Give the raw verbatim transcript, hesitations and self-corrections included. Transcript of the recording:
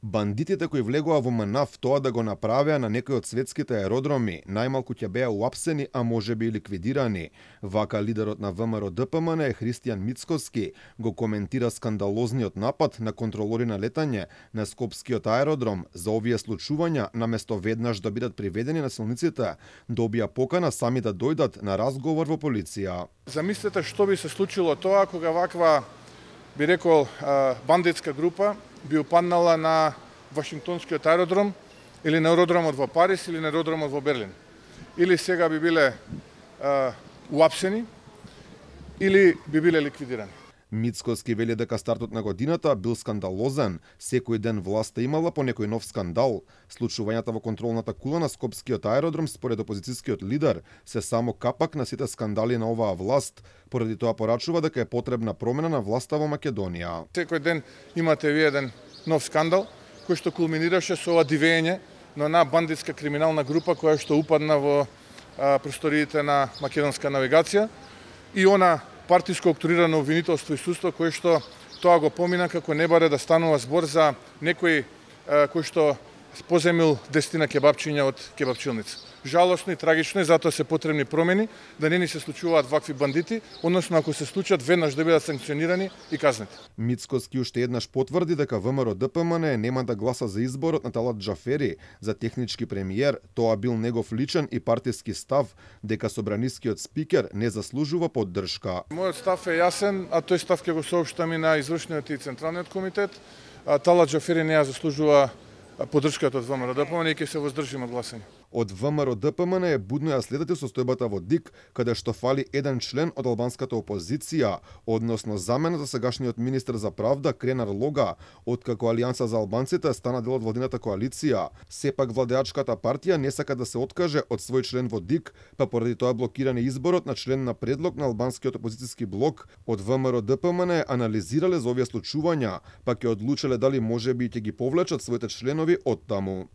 Бандитите кои влегоа во МНАВ тоа да го направеа на некои од светските аеродроми, најмалку ќе беа уапсени, а можеби и ликвидирани. Вака лидерот на ВМРО-ДПМН Христијан Мицкоски го коментира скандалозниот напад на контролори на летање на Скопскиот аеродром. За овие случувања, наместо веднаш да бидат приведени насилниците, добија покана сами да дојдат на разговор во полиција. Замислете што би се случило тоа кога ваква, би рекол, бандитска група би упаднала на Вашингтонскиот аеродром или на аеродромот во Париз или на аеродромот во Берлин. Или сега би биле а, уапсени или би биле ликвидирани. Мицкоски вели дека стартот на годината бил скандалозен, секој ден власта имала по некој нов скандал. Случувањата во контролната кула на Скопскиот аеродром според опозицијскиот лидер се само капак на сите скандали на оваа власт, поради тоа порачува дека е потребна промена на власта во Македонија. Секој ден имате ви еден нов скандал кој што кулминираше со ова дивење на една бандитска криминална група која што упадна во а, просториите на македонска навигација и она партиско октрирано обвинителство и судство кое што тоа го помина како не баре да станува збор за некој кој што поземил десетина кебапчиња од кебапчилница. Жалосно и трагично е, затоа се потребни промени, да не ни се случуваат вакви бандити, односно ако се случат веднаш да бидат санкционирани и казнети. Мицкоски уште еднаш потврди дека ВМРО-ДПМН нема да гласа за изборот на Талат Џафери за технички премиер, тоа бил негов личен и партиски став, дека собранискиот спикер не заслужува поддршка. Мојот став е јасен, а тој став ќе го соопштам и на извршниот и централниот комитет. Талат Џафери не ја заслужува поддршката од ВМРО-ДПМН и ќе се воздржиме од гласање. Од ВМРО-ДПМН е будно ја следите состојбата во ДИК, каде што фали еден член од албанската опозиција, односно замена за сегашниот министер за правда Кренар Лога, откако Алијанса за албанците стана дел од владината коалиција. Сепак владеачката партија не сака да се откаже од свој член во ДИК, па поради тоа блокиран изборот на член на предлог на албанскиот опозицијски блок. Од ВМРО-ДПМН анализирале за овие случувања, па ќе одлучеле дали можеби ќе ги повлечат своите членови од таму.